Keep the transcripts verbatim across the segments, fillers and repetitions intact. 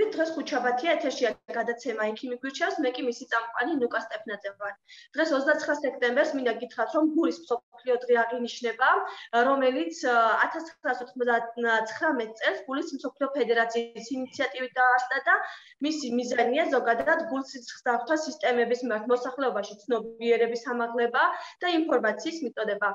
მოგესალმებით, დღეს ხუთშაბათია, ეთერშია გადაცემა იქი მიგვირჩევს, მე კი მისი წამყვანი ნუკა სტეფნაძე ვარ. დღეს ოცდაცხრა სექტემბერს მინდა გითხრათ, რომ გულის მსოფლიო დღე აღინიშნება, რომელიც ათას ცხრაასი ოცდათვრამეტ წელს გულის მსოფლიო ფედერაციის ინიციატივით დაარსდა და მისი მიზანია ზოგადად გულსიცრცხლთა სისტემების მიმართ მოსახლეობაში ცნობიერების ამაღლება და ინფორმაციის მიტოდება.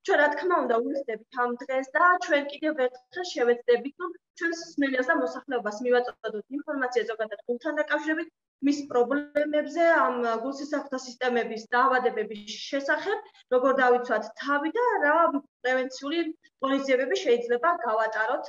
ჩვენ რა თქმა უნდა ვუხდებით ამ დღეს და ჩვენ კიდევ ერთხელ შევეცდებით, რომ ჩვენს მსმენელს და მოსახლეობას მივაწოდოთ ინფორმაცია ზოგადად გულთან დაკავშირებით, მის პრობლემებზე, ამ გულსისხლთა სისტემების დაავადებების შესახებ, როგორ დავიცვათ თავი და რა პრევენციული ღონისძიებები შეიძლება გავატაროთ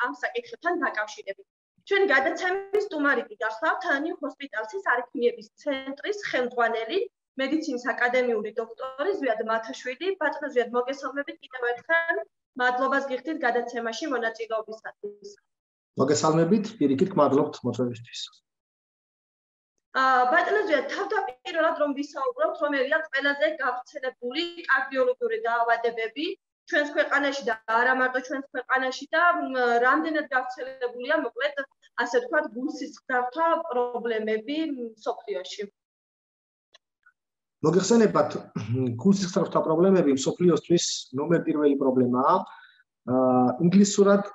ამ საკითხებთან დაკავშირებით. ჩვენ გადაცემის სტუმარი გახსოვთ ნიუ ჰოსპიტალსის არითმიების ცენტრის ხელმძღვანელი მედიცინის აკადემიური დოქტორი ზვიად მათაშვილი, ბატონო ზვიად მოგესალმებით კიდევ ერთხელ. მადლობას გიხდით გადაცემაში მონაწილეობისათვის. მოგესალმებით, პირიქით გმადლობთ მოწვევისთვის. აა ბატონო ზვიად, თავდაპირველად რომ ვისაუბროთ, რომელია ყველაზე გავრცელებული კარდიოლოგიური დაავადებები ჩვენს ქვეყანაში და არა მარტო ჩვენს ქვეყანაში და რამდენად გავრცელებულია, მოკლედ, ასე ვთქვათ, გულსისხლთა პრობლემები მსოფლიოში. მოგეხსენებათ, გულსისხლთა პრობლემები მსოფლიოსთვის ნომერ პირველი პრობლემაა. ინგლისურად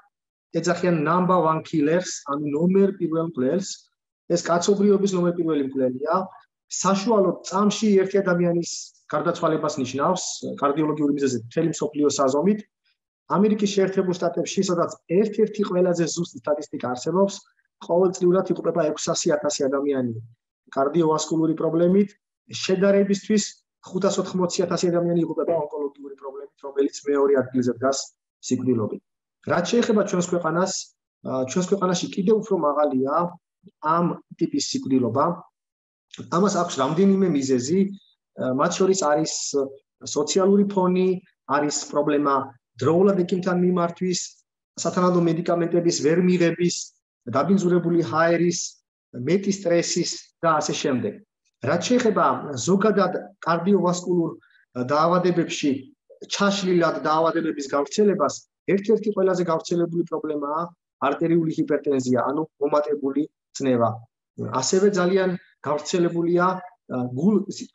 ეძახიან number one killers, ანუ ნომერ პირველ მკვლელს. ეს კაცობრიობის ნომერ პირველი მკვლელია. საშუალოდ წამში ერთი ადამიანის გარდაცვალებას ნიშნავს კარდიოლოგიური მიზეზით მთელი მსოფლიოს საზომით. ამერიკის შეერთებულ შტატებში, სადაც ერთ-ერთი ყველაზე ზუსტი სტატისტიკა არსებობს, ყოველწლიურად იღუპება ექვსასი ათასი ადამიანი კარდიოვასკულური პრობლემით. შედარებისთვის ხუთას ოთხმოცი ათასი ადამიანი იღუპება ონკოლოგიური პრობლემით, რომელიც მეორე ადგილზე დგას სიკვდილობით. რაც შეეხება ჩვენს ქვეყანას, ჩვენს ქვეყანაში კიდევ უფრო მაღალია ამ ტიპის სიკვდილობა. ამას აქვს რამდენიმე მიზეზი, მათ შორის არის სოციალური ფონი, არის პრობლემა დროულად ექიმთან მიმართვის, სათანადო მედიკამენტების ვერ მიღების, დაბინძურებული ჰაერის, მეტი სტრესის და ასე შემდეგ. რაც შეეხება ზოგადად კარდიოვასკულურ დაავადებებში ჩაშლილად დაავადებების გავრცელებას, ერთ-ერთი ყველაზე გავრცელებული პრობლემაა არტერიული ჰიპერტენზია, ანუ მომატებული წნევა. ასევე ძალიან გავრცელებულია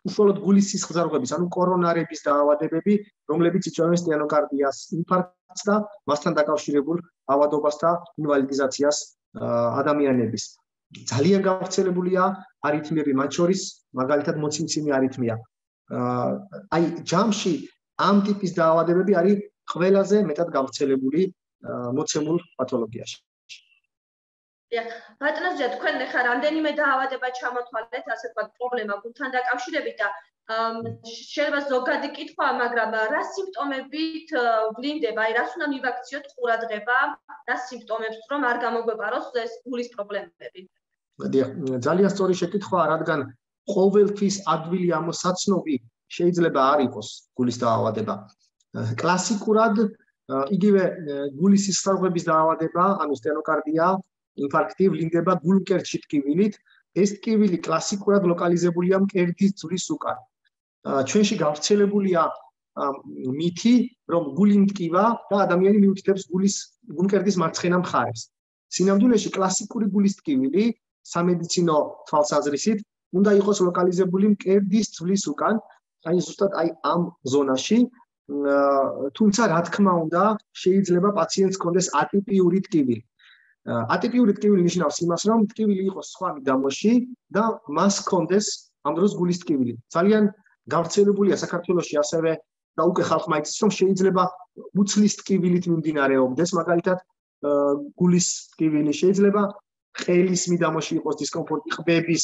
უშუალოდ გულის სისხლძარღვების, ანუ კორონარების დაავადებები, რომლებიც იწვევენ სტენოკარდიას, ინფარქტს და მასთან დაკავშირებულ ავადობას და ინვალიდიზაციას ადამიანების. ძალიან გავრცელებულია არითმიები, მათ შორის მაგალითად მოციმციმი არითმია. აი ჯამში ამ ტიპის დაავადებები არის ყველაზე მეტად გავრცელებული მოცემულ პათოლოგიაში. დიახ, ბატონო ზვიად, თქვენ ახლა რამდენიმე დაავადება ჩამოთვალეთ, ასე ვთქვათ, პრობლემა გულთან დაკავშირებით და შეიძლება ზოგადი კითხვაა, მაგრამ რა სიმპტომებით ვლინდება, აი რას უნდა მივაქციოთ ყურადღება, რა სიმპტომებს რომ არ გამოგვეპაროს ეს გულის პრობლემები. დიახ, ძალიან სწორი შეკითხვაა, რადგან ყოველთვის ადვილი ამოსაცნობი შეიძლება არ იყოს გულის დაავადება. კლასიკურად იგივე გულის სისხლძარღვების დაავადება, ანუ სტენოკარდია, ინფარქტი ვლინდება გულმკერდში ტკივილით. ეს ტკივილი კლასიკურად ლოკალიზებულია მკერდის ძვლის უკან. ჩვენში გავრცელებულია მითი, რომ გული მტკივა და ადამიანი მიუთითებს გულის გულმკერდის მარცხენა მხარეს. სინამდვილეში კლასიკური გულის ტკივილი სამედიცინო თვალსაზრისით უნდა იყოს ლოკალიზებული მკერდის ძვლის უკან, აი ზუსტად აი ამ ზონაში. თუმცა რა თქმა უნდა, შეიძლება პაციენტს ჰქონდეს ატიპიური ტკივილი. ატიპიური ტკივილი ნიშნავს იმას, რომ ტკივილი იყოს სხვა მიდამოში და მას ჰქონდეს ამ დროს გულის ტკივილი. ძალიან გავრცელებულია საქართველოში ასევე და უკვე ხალხმა იცის, რომ შეიძლება უცლის ტკივილით მიმდინარეობდეს, მაგალითად გულის ტკივილი, შეიძლება ყელის მიდამოში იყოს დისკომფორტი, ყბების,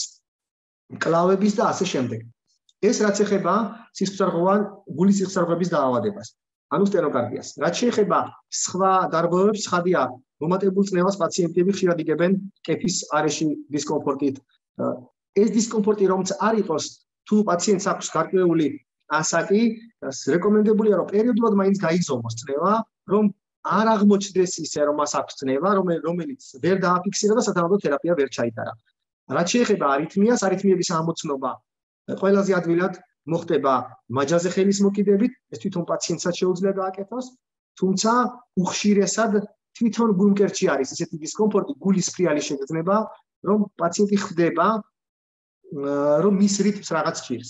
მკლავების და ასე შემდეგ. ეს რაც ეხება სისხლძარღვოვან გულის სისხლძარღვების დაავადებას, ანუ სტენოკარდიას. რაც შეეხება სხვა დარღვევებს, ცხადია, მომატებულ წნევას პაციენტები ხშირად იგებენ კეფის არეში დისკომფორტით. ეს დისკომფორტი რომც არ იყოს, თუ პაციენტს აქვს გარკვეული ასაკი, რეკომენდებულია, რომ პერიოდულად მაინც გაიზომოს წნევა, რომ არ აღმოჩნდეს ისე, რომ მას აქვს წნევა, რომელიც ვერ დააფიქსირა და სათანადო თერაპია ვერ ჩაიტარა. რაც შეეხება არითმიას, არითმიების ამოცნობა ყველაზე ადვილად მოხდება მაჯაზე ხელის მოკიდებით, ეს თვითონ პაციენტსაც შეუძლია გააკეთოს, თუმცა უხშირესად თვითონ გულმკერდში არის ესეთი დისკომფორტი, გულის ფრიალი შეგრძნება რომ პაციენტი ხვდება რომ მის რიტმს რაღაც ჭირს.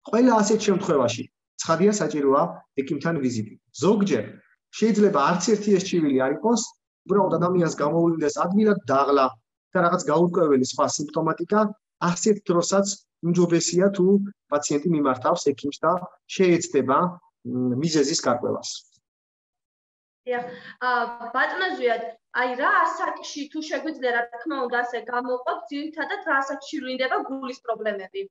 ყველა ასეთ შემთხვევაში ცხადია საჭიროა ექიმთან ვიზიტი. ზოგჯერ შეიძლება არც ერთი ეს ჭირვილი არ იყოს, უბრალოდ ადამიანს გამოუვლიდეს ადვილად დაღლა და რაღაც გაურკვეველი სხვა სიმპტომატიკა, ასეთ დროსაც უმჯობესია თუ პაციენტი მიმართავს ექიმს და შეეცდება მიზეზის გარკვევას. დიახ, ბატონო ზვიად, აი რა ასაკში თუ შეგვიძლია რა თქმა უნდა ასე გამოვყოთ, ძირითადად რა ასაკში ვლინდება გულის პრობლემები?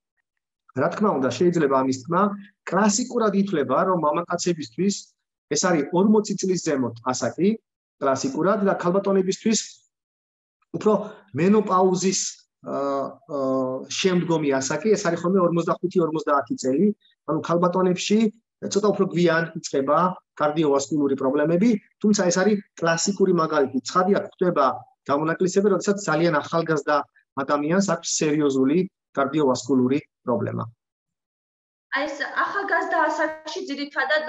რა თქმა უნდა, შეიძლება ამის თქმა, კლასიკურად ითვლება, რომ მამაკაცებისთვის ეს არის ორმოცი წლის ზემოთ ასაკი, კლასიკურად და ქალბატონებისთვის უფრო მენოპაუზის შემდგომი ასაკი, ეს არის ხოლმე ორმოცდახუთი ორმოცდაათი წელი, ანუ ქალბატონებში ცოტა უფრო გვიან იწყება კარდიოვასკულური პრობლემები, თუმცა ეს არის კლასიკური მაგალითი. ცხადია, ხდება გამონაკლისები, როდესაც ძალიან ახალგაზრდა ადამიანს აქვს სერიოზული კარდიოვასკულური პრობლემა. აი ეს ახალგაზრდა ასაკში ძირითადად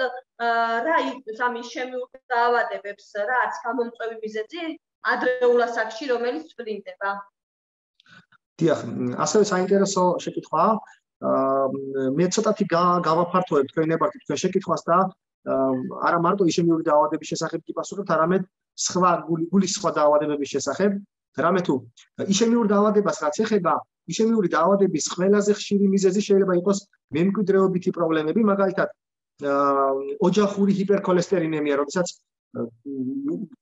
რა იქნება ამის შემიουργება დაავადებებს, რაც გამომწვევი მიზეზი ადრეულ ასაკში, რომელიც ვლინდება? დიახ, ასევე საინტერესო შეკითხვაა. მე ცოტათი გავაფართოვებ თქვენ ნებართით თქვენ შეკითხვას და არა მარტო იშემიური დაავადების შესახებ გიპასუხებთ, არამედ სხვა გულის სხვა დაავადებების შესახებ. რამე თუ იშემიურ დაავადებას რაც ეხება, იშემიური დაავადების ყველაზე ხშირი მიზეზი შეიძლება იყოს მემკვიდრეობითი პრობლემები, მაგალითად ოჯახური ჰიპერქოლესტერინემია, როდესაც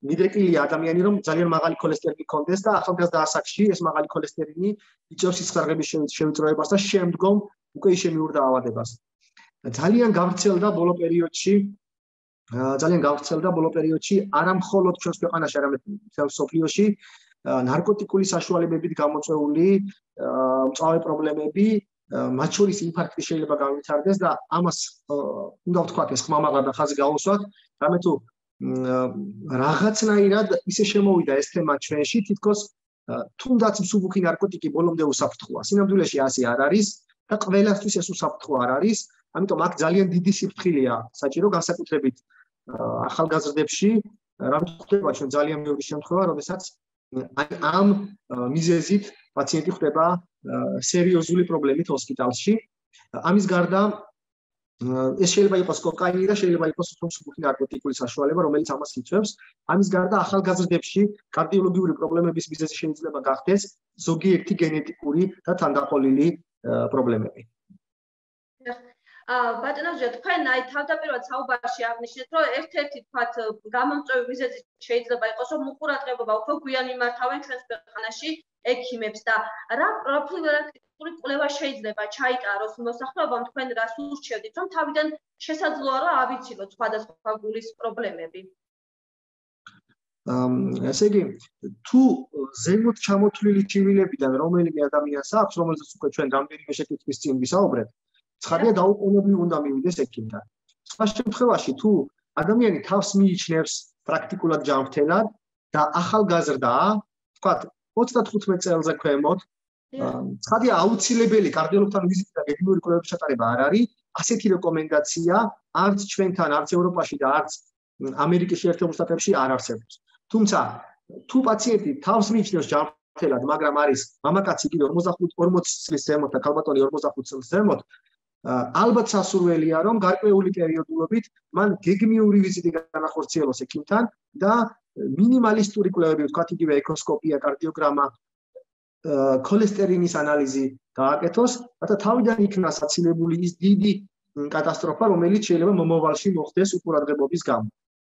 მიდრეკილია ადამიანი, რომ ძალიან მაღალი ქოლესტერინი ჰქონდეს და ახალგაზრდა ასაკში ეს მაღალი ქოლესტერინი იწვევს სისხლძარღვების შევიწროებას და შემდგომ უკვე იშემიურ დაავადებას. ძალიან გავრცელდა ბოლო პერიოდში, ძალიან გავრცელდა ბოლო პერიოდში არა მხოლოდ ჩვენს ქვეყანაში, არამედ მთელ მსოფლიოში ნარკოტიკული საშუალებებით გამოწვეული მწვავე პრობლემები, მათ შორის ინფარქტი შეიძლება განვითარდეს და ამას უნდა ვთქვათ, ეს ხმამაღლა და ხაზი გავუსვათ, რამე თუ რაღაცნაირად ისე შემოვიდა ეს თემა ჩვენში, თითქოს თუნდაც მსუბუქი ნარკოტიკი ბოლომდე უსაფრთხოა. სინამდვილეში ასე არ არის და ყველასთვის ეს უსაფრთხო არ არის, ამიტომ აქ ძალიან დიდი სიფრთხილეა საჭირო განსაკუთრებით ახალგაზრდებში, რამე ხდება ჩვენ ძალიან ბევრი შემთხვევა, როდესაც ამ მიზეზით პაციენტი ხდება სერიოზული პრობლემით ჰოსპიტალში. ამის გარდა ეს შეიძლება იყოს კოკაინი და შეიძლება იყოს მსუბუქი ნარკოტიკული საშუალება, რომელიც ამას იწვევს. ამის გარდა ახალგაზრდებში კარდიოლოგიური პრობლემების მიზეზი შეიძლება გახდეს ზოგიერთი გენეტიკური და თანდაყოლილი პრობლემები. ბატონო ზვია, თქვენ აი თავდაპირველად საუბარში აღნიშნეთ, რომ ერთ-ერთი თქვათ გამომწვევი მიზეზი შეიძლება იყოს, რომ უყურადღებობა უფრო გვიან იმართავენ ჩვენს ქვეყანაში ექიმებს და რა პროფილაქტიკური კვლევა შეიძლება ჩაიტაროს მოსახლეობამ, თქვენ რას ურჩევდით, რომ თავიდან შესაძლოა რომ ავიცილოთ სხვადასხვა გულის პრობლემები? ესე იგი, თუ ზემოთ ჩამოთვლილი ჭივილებიდან რომელიმე ადამიანს აქვს, რომელსაც უკვე ჩვენ რამდენიმე შეკითხვის წინ ვისაუბრეთ, ცხადია დაუყოვნებლივ უნდა მივიდეს ექიმთან. სხვა შემთხვევაში, თუ ადამიანი თავს მიიჩნევს პრაქტიკულად ჯანმრთელად და ახალგაზრდაა, ვთქვათ, ოცდათხუთმეტ წელზე ქვემოთ, ცხადია აუცილებელი კარდიოლოგთან ვიზიტი და გეგმიური კვლევების ჩატარება არ არის. ასეთი რეკომენდაცია არც ჩვენთან, არც ევროპაში და არც ამერიკის შეერთებულ შტატებში არ არსებობს. თუმცა, თუ პაციენტი თავს მიიჩნევს ჯანმრთელად, მაგრამ არის მამაკაცი კიდე ორმოცი წლის ზემოთ და ქალბატონი ორმოცდახუთ წლის ზემოთ, ალბათ სასურველია, რომ გარკვეული პერიოდულობით მან გეგმიური ვიზიტი განახორციელოს ექიმთან და მინიმალისტური კვლევები, ვთქვათ, იგივე ეკოსკოპია, კარდიოგრამა, ქოლესტერინის ანალიზი გააკეთოს, რათა თავიდან იქნას აცილებული ის დიდი კატასტროფა, რომელიც შეიძლება მომავალში მოხდეს უყურადღებობის გამო.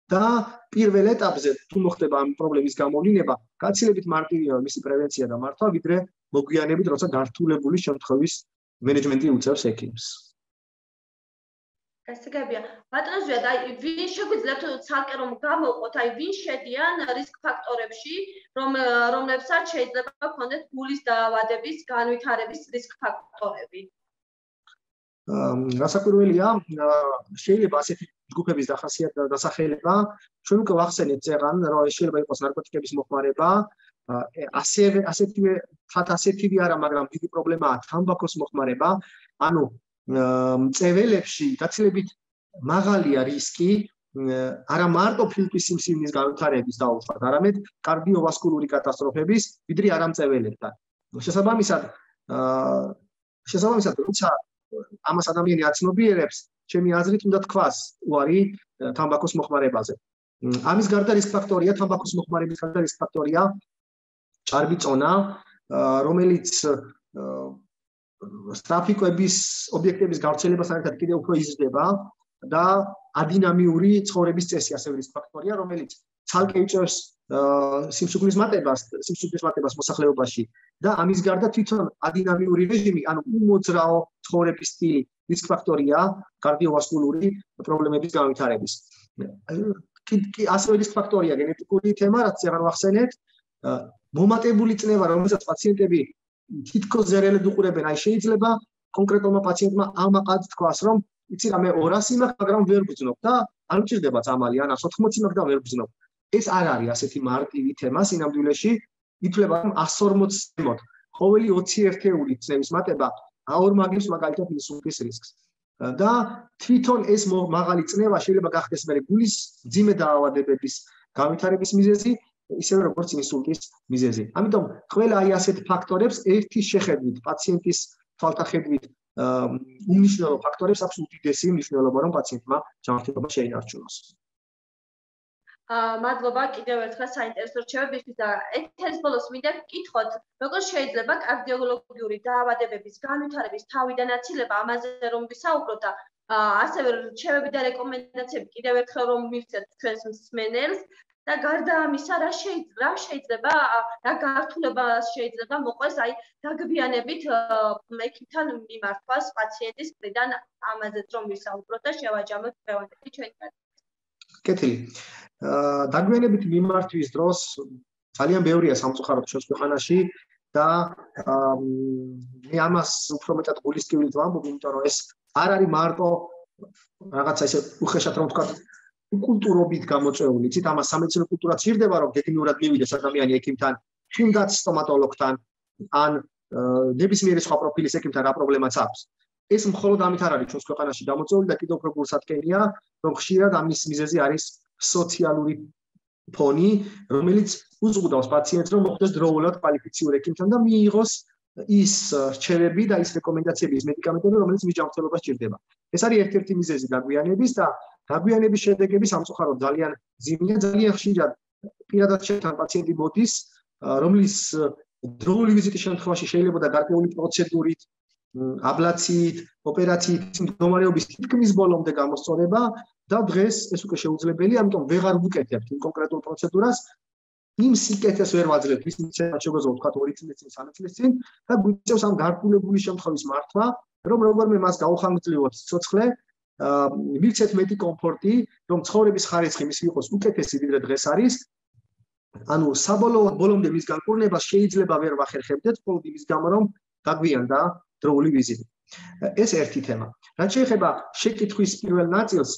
და პირველ ეტაპზე თუ მოხდება ამ პრობლემის გამოვლინება, გაცილებით მარტივია მისი პრევენცია და მართვა, ვიდრე მოგვიანებით, როცა გართულებული შემთხვევის მენეჯმენტი უწევს ექიმს. გასაგებია. ბატონო ზვიად, აი ვინ შეგვიძლიათ ცალკე რომ გამოვყოთ, აი ვინ შედიან რისკ ფაქტორებში, რომ რომლებსაც შეიძლება გქონდეთ გულის დაავადების განვითარების რისკ ფაქტორები? რასაკვირველია, შეიძლება ასეთი ჯგუფების დახასიათება და დასახელება, ჩვენ უკვე ვახსენეთ წეღან, რომ შეიძლება იყოს ნარკოტიკების მოხმარება, ასევე ასეთივე ხათ ასეთივე არა, მაგრამ დიდი პრობლემაა თამბაქოს მოხმარება, ანუ მწეველებში გაცილებით მაღალია რისკი არა მარტო ფილტვის სიმსივნის განვითარების დაუშვათ, არამედ კარდიოვასკულური კატასტროფების, ვიდრე არამწეველებთან. შესაბამისად, შესაბამისად, როცა ამას ადამიანი აცნობიერებს, ჩემი აზრით უნდა თქვას უარი თამბაქოს მოხმარებაზე. ამის გარდა რისკ ფაქტორია, თამბაქოს მოხმარების გარდა რისკ ფაქტორია ჭარბი წონა, რომელიც ტრაფიკების ობიექტების გავრცელებასთან ერთად კიდევ უფრო იზრდება და ადინამიური ცხოვრების წესი ასევე რისკ ფაქტორია, რომელიც ცალკე იწვევს სიმსუქნის მატებას, სიმსუქნის მატებას მოსახლეობაში და ამის გარდა თვითონ ადინამიური რეჟიმი, ანუ უმოძრაო ცხოვრების სტილი რისკ ფაქტორია კარდიოვასკულური პრობლემების განვითარების. ასევე რისკ ფაქტორია გენეტიკური თემა, რაც აღარ ვახსენეთ, მომატებული წნევა, რომელსაც პაციენტები თითქოს ზერელად უყურებენ, აი შეიძლება კონკრეტულმა პაციენტმა ამაყად თქვას, რომ იცი რა მე ორასი მაქვს, მაგრამ ვერ ვგრძნობ და არ მჭირდება წამალი, ან ას ოთხმოცი მაქვს და ვერ ვგრძნობ. ეს არ არის ასეთი მარტივი თემა სინამდვილეში, ითვლება რომ ას ორმოც ზემოთ, ყოველი ოცი ერთეული წნევის მატება აორმაგებს მაგალითად ინსულტის რისკს. და თვითონ ეს მაღალი წნევა შეიძლება გახდეს მე გულის მძიმე დაავადებების განვითარების მიზეზი, ისევე როგორც ინსულტის მიზეზი. ამიტომ ყველა აი ასეთ ფაქტორებს ერთი შეხედვით, პაციენტის თვალთახედვით უმნიშვნელო ფაქტორებს აქვს უდიდესი მნიშვნელობა, რომ პაციენტმა ჯანმრთელობა შეინარჩუნოს. მადლობა კიდევ ერთხელ საინტერესო რჩევებისთვის და ეთერის ბოლოს მინდა გკითხოთ, როგორ შეიძლება კარდიოლოგიური დაავადებების განვითარების თავიდან აცილება, ამაზე რომ ვისაუბროთ და ასევე რჩევები და რეკომენდაციები კიდევ ერთხელ რომ მივცეთ ჩვენს მსმენელს და გარდა ამისა რა შეიძლება შეიძლება რა გართულება შეიძლება მოყვეს აი დაგვიანებით ექიმთან მიმართვას პაციენტის მხრიდან ამაზეც რომ ვისაუბროთ და შევაჯამოთ დღევანდელი ჩვენი კეთილი. დაგვიანებით მიმართვის დროს ძალიან ბევრია სამწუხაროდ ჩვენს ქვეყანაში და მე ამას უფრო მეტად გულისკევლით ვამბობ, იმიტომ რომ ეს არ არის მარტო რაღაცა ესე უხეშად რომ ვთქვა კულტურობით გამოწვეული, იცით, ამას სამედიცინო კულტურა ჭირდება, რომ გეგმიურად მივიდეს ადამიანი ექიმთან, თუნდაც სტომატოლოგთან, ან ნებისმიერი სხვა პროფილის ექიმთან რა პრობლემაც აქვს. ეს მხოლოდ ამით არ არის ჩვენს ქვეყანაში გამოწვეული და კიდევ უფრო გულსათქენია, რომ ხშირად ამის მიზეზი არის სოციალური ფონი, რომელიც უზღუდავს პაციენტს, რომ მოხვდეს დროულად კვალიფიციურ ექიმთან და მიიღოს ის რჩევები და ის რეკომენდაციები, ის მედიკამენტები, რომელიც მის ჯანმრთელობას ჭირდება. ეს არის ერთ-ერთი მიზეზი დაგვიანების და დაგვიანების შედეგები სამწუხაროდ ძალიან ძიმია, ძალიან ხშირად პირადად შეთან პაციენტი მოდის, რომლის დროული ვიზიტის შემთხვევაში შეიძლება და გარკვეული პროცედურით, აბლაციით, ოპერაციით მდგომარეობის თითქმის ბოლომდე გამოსწორება და დღეს ეს უკვე შეუძლებელია, ამიტომ ვეღარ ვუკეთებთ იმ კონკრეტულ პროცედურას, იმ სიკეთეს ვერ ვაძლევთ, ვის მიცემად შეგვეძლო ვთქვათ ორი წლის წინ, სამი წლის წინ და გვიწევს ამ გარკვეული შემთხვევის მართვა, რომ როგორმე მას გაუხანგრძლივოთ სიცოცხლე, მივცეთ მეტი კომფორტი, რომ ცხოვრების ხარისხი მის იყოს უკეთესი ვიდრე დღეს არის. ანუ საბოლოოდ ბოლომდე მის განკურნებას შეიძლება ვერ ვახერხებდეთ, მხოლოდ იმის გამო, რომ დაგვიანდა დროული ვიზიტი. ეს ერთი თემა. რაც შეეხება შეკითხვის პირველ ნაწილს,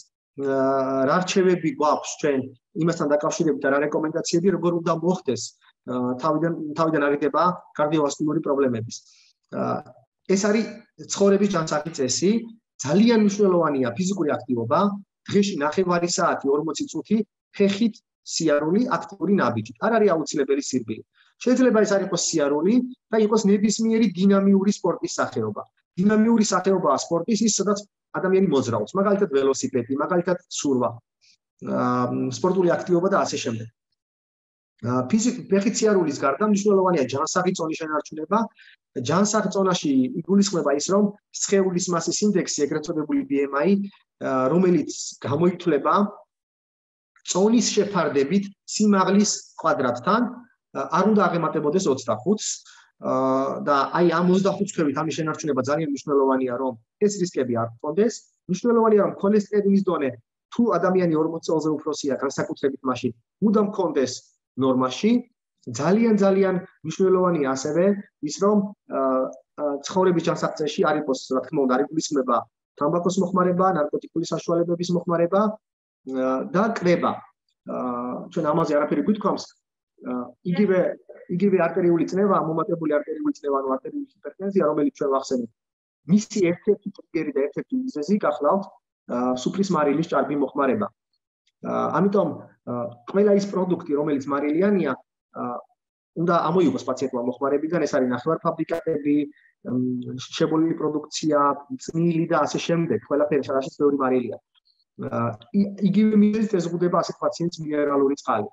რა რჩევები გვაქვს ჩვენ იმასთან დაკავშირებით და რა რეკომენდაციები როგორ უნდა მოხდეს თავიდან თავიდან აღიდება კარდიოვასკულური პრობლემების. ეს არის ცხოვრების ჯანსაღი წესი, ძალიან მნიშვნელოვანია ფიზიკური აქტივობა, დღეში ნახევარი საათი ორმოცი წუთი ფეხით სიარული აქტიური ნაბიჯით. არ არის აუცილებელი სირბილი. შეიძლება ეს არ იყოს სიარული და იყოს ნებისმიერი დინამიური სპორტის სახეობა. დინამიური სახეობაა სპორტის ის, სადაც ადამიანი მოძრაობს, მაგალითად ველოსიპედი, მაგალითად ცურვა, სპორტული აქტივობა და ასე შემდეგ. ფეხით სიარულის გარდა მნიშვნელოვანია ჯანსაღი წონის შენარჩუნება. ჯანსაღ წონაში იგულისხმება ის, რომ სხეულის მასის ინდექსი, ეგრეთ წოდებული B M I, რომელიც გამოითვლება წონის შეფარდებით სიმაღლის კვადრატთან, არ უნდა აღემატებოდეს ოცდახუთს და აი ამ ოცდახუთს ქვევით ამის შენარჩუნება ძალიან მნიშვნელოვანია, რომ ეს რისკები არ გქონდეს. მნიშვნელოვანია, რომ ქოლესტერინის დონე თუ ადამიანი ორმოც წელზე უფროსია, განსაკუთრებით მაშინ მუდამ გქონდეს ნორმაში. ძალიან ძალიან მნიშვნელოვანია ასევე ის, რომ ცხოვრების ჯანსაღწეში არ იყოს, რა თქმა უნდა, არ იგულისხმება თამბაქოს მოხმარება, ნარკოტიკული საშუალებების მოხმარება და კრება. ჩვენ ამაზე არაფერი გვითქვამს. იგივე იგივე არტერიული წნევა, მომატებული არტერიული წნევა, ანუ არტერიული ჰიპერტენზია, რომელიც ჩვენ ვახსენებთ. მისი ერთ-ერთი ტრიგერი და ერთ-ერთი მიზეზი გახლავთ სუფრის მარილის ჭარბი მოხმარება. ამიტომ ყველა ის პროდუქტი, რომელიც მარილიანია, უნდა ამოიღოს პაციენტმა მოხმარებიდან, ეს არის ნახევარფაბრიკატები, შებოლილი პროდუქცია, წნილი და ასე შემდეგ, ყველაფერი სადაც ბევრი მარილია. იგივე მიზეზით ეზღუდება ასეთ პაციენტს მინერალური წყალი.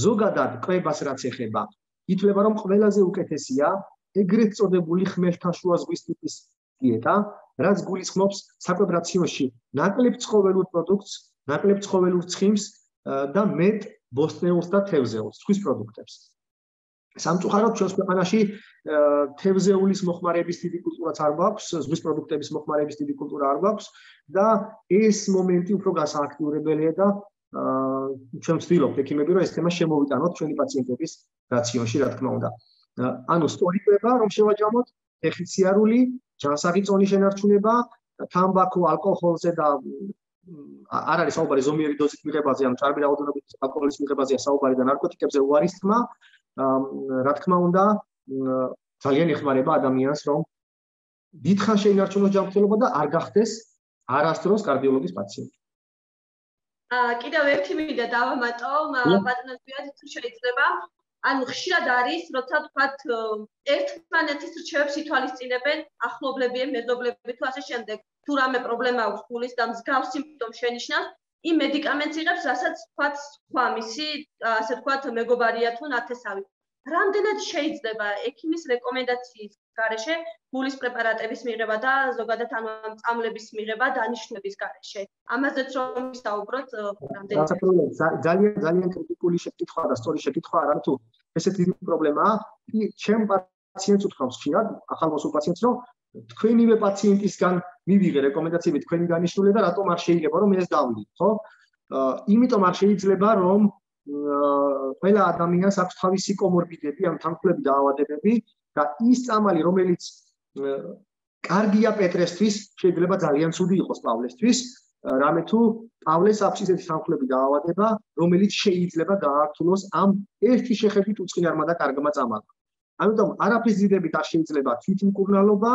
ზოგადად კვებას რაც ეხება, ითვლება რომ ყველაზე უკეთესია ეგრეთ წოდებული ხმელთაშუა ზღვის ტიპის დიეტა, რაც გულისხმობს საკვებ რაციონში ნაკლებ ცხოველურ პროდუქტს, ნაკლებ ცხოველურ ცხიმს და მეტ ბოსტნეულს და თევზეულს, ზღვის პროდუქტებს. სამწუხაროდ ჩვენს ქვეყანაში თევზეულის მოხმარების დიდი კულტურაც არ გვაქვს, ზღვის პროდუქტების მოხმარების დიდი კულტურა არ გვაქვს და ეს მომენტი უფრო გასააქტიურებელია და ჩვენ ვცდილობთ ექიმები რომ ეს თემა შემოვიტანოთ ჩვენი პაციენტების რაციონში, რა თქმა უნდა. ანუ სწორი კვება რომ შევაჯამოთ, ფეხისიარული, ჯანსაღი წონის შენარჩუნება, თამბაქო, ალკოჰოლზე და არ არის საუბარი ზომიერი დოზით მიღებაზე, ან ჭარბი რაოდენობით ალკოჰოლის მიღებაზეა საუბარი და ნარკოტიკებზე უარის თმა, რა თქმა უნდა, ძალიან ეხმარება ადამიანს, რომ დიდხან შეინარჩუნოს ჯანმრთელობა და არ გახდეს არასდროს კარდიოლოგის პაციენტი. კიდევ ერთი მინდა დავამატო, ბატონო ზვიად, თუ შეიძლება, ანუ ხშირად არის, როცა თქვათ ერთმანეთის რჩევებს ითვალისწინებენ ახლობლები, მეზობლები თუ ასე შემდეგ, თუ რამე პრობლემა აქვს გულის და მსგავს სიმპტომს შენიშნავს, იმ მედიკამენტს იღებს, რასაც თქვათ სხვა მისი, ასე თქვათ, მეგობარია თუ ნათესავი. რამდენად შეიძლება ექიმის რეკომენდაციის გარეშე გულის პრეპარატების მიღება და ზოგადად ანუ ამ წამლების მიღება დანიშნების გარეშე. ამაზეც რომ ვისაუბროთ, რამდენად ძალიან ძალიან კრიტიკული შეკითხვა და სწორი შეკითხვა არა თუ ესეთი პრობლემაა. ჩემ პაციენტს უთხრავს ხშირად, ახალმოსულ პაციენტს, რომ თქვენივე პაციენტისგან მივიღე რეკომენდაციები თქვენი დანიშნული და რატომ არ შეიძლება რომ ეს დავიდეთ, ხო? იმიტომ არ შეიძლება რომ ყველა ადამიანს აქვს თავისი კომორბიდები, ან თანხმლები დაავადებები და ის წამალი, რომელიც კარგია პეტრესთვის, შეიძლება ძალიან ცუდი იყოს პავლესთვის, რამე თუ პავლეს აქვს ისეთი თანხმლები დაავადება, რომელიც შეიძლება გაართულოს ამ ერთი შეხედვით უწყინარმა და კარგმა წამალმა. ამიტომ არაფრის ძიდებით არ შეიძლება თვითმკურნალობა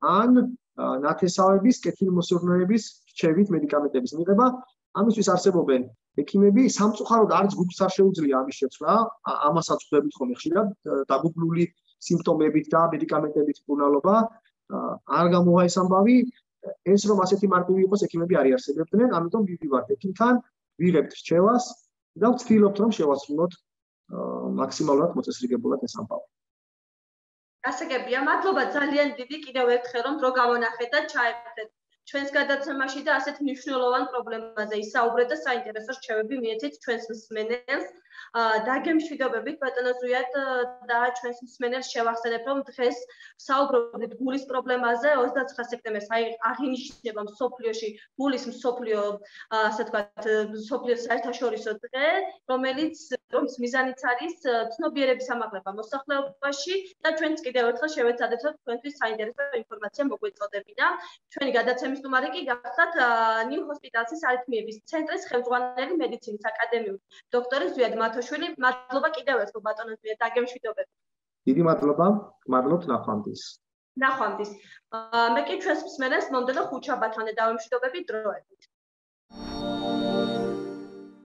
ან ნათესავების, კეთილმოსურნეების რჩევით მედიკამენტების მიღება. ამისთვის არსებობენ ექიმები, სამწუხაროდ არც გულს არ შეუძლია ამის შეცვლა, ამასაც ხვდებით ხოლმე ხშირად, დაგუგლული სიმპტომებით და მედიკამენტებით მკურნალობა. არ გამოვა ეს ამბავი, ეს რომ ასეთი მარტივი იყოს, ექიმები არ იარსებებდნენ, ამიტომ ვივივართ ექიმთან, ვიღებთ რჩევას და ვცდილობთ რომ შევასრულოთ მაქსიმალურად მოწესრიგებულად ეს ამბავი. გასაგებია, მადლობა ძალიან დიდი კიდევ ერთხელ რომ დრო გამონახეთ და ჩაერთეთ ჩვენს გადაცემაში და ასეთ მნიშვნელოვან პრობლემაზე ისაუბრეთ და საინტერესო რჩევები მიეცეთ ჩვენს მსმენელს. დაგემშვიდობებით ბატონო ზვიად და ჩვენს მსმენელს შევახსენებ, რომ დღეს საუბრობთ გულის პრობლემაზე. ოცდაცხრა სექტემბერს აღინიშნება მსოფლიოში გულის მსოფლიო, ასე ვთქვათ, მსოფლიო საერთაშორისო დღე, რომელიც რომის მიზანიც არის ცნობიერების ამაღლება მოსახლეობაში და ჩვენც კიდევ ერთხელ შევეცადეთ, რომ თქვენთვის საინტერესო ინფორმაცია მოგვეწოდებინა. ჩვენი გადაცემის სტუმარი კი გახდათ ნიუ ჰოსპიტალსის არითმიების ცენტრის ხელმძღვანელი მედიცინის აკადემიური დოქტორი ზვიად მათოშვილი. მადლობა კიდევ ერთხელ ბატონო ზვიად, დაგემშვიდობებით. დიდი მადლობა, მადლობთ ნახვამდის. ნახვამდის. მე კი ჩვენს მსმენელს მომდევნო ხუთშაბათამდე დავემშვიდობები დროებით.